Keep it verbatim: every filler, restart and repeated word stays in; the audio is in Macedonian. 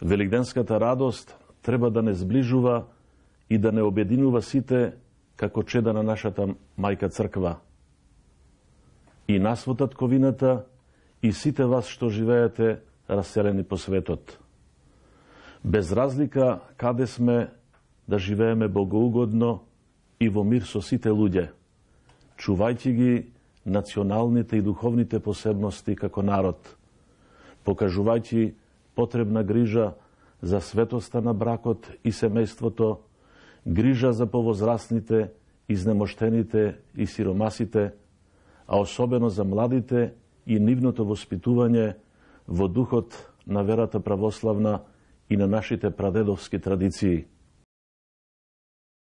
Великденската радост треба да не зближува и да не обединува сите како чеда на нашата мајка црква. И нас во татковината, и сите вас што живеете раселени по светот. Без разлика каде сме, да живееме богоугодно и во мир со сите луѓе, чувајќи ги националните и духовните посебности како народ, покажувајќи потребна грижа за светоста на бракот и семејството, грижа за повозрасните, изнемоштените и сиромасите, а особено за младите и нивното воспитување во духот на верата православна и на нашите прадедовски традиции.